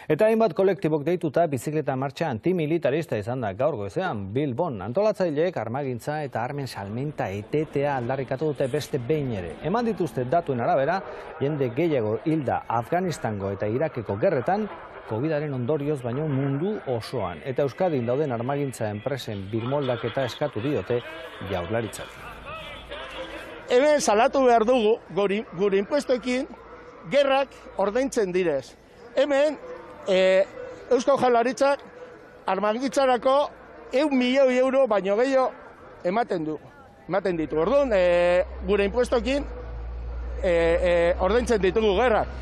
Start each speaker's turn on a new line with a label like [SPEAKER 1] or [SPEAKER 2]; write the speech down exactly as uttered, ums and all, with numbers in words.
[SPEAKER 1] Eta hainbat kolektibok deituta bizikleta martxa antimilitarista izan da gaur goizean Bilbon. Antolatzaileek armagintza eta armen salmenta etetea aldarrikatu dute beste behin ere. Eman dituzte datuen arabera, jende gehiago hilda Afganistango eta Irakeko gerretan, Covidaren ondorioz baino mundu osoan. Eta Euskadin dauden armagintza enpresen birmoldaketa eskatu diote Jaurlaritzak.
[SPEAKER 2] Hemen salatu behar dugu, gure inpuestoekin, gerrak ordaintzen direz. Hemen, e, Eusko Jaurlaritzak armagintzarako ehun milioi euro baino gehiago ematen du. Ematen ditu. Orduan, e, gure inpuestoekin e, e, ordaintzen ditugu gerrak.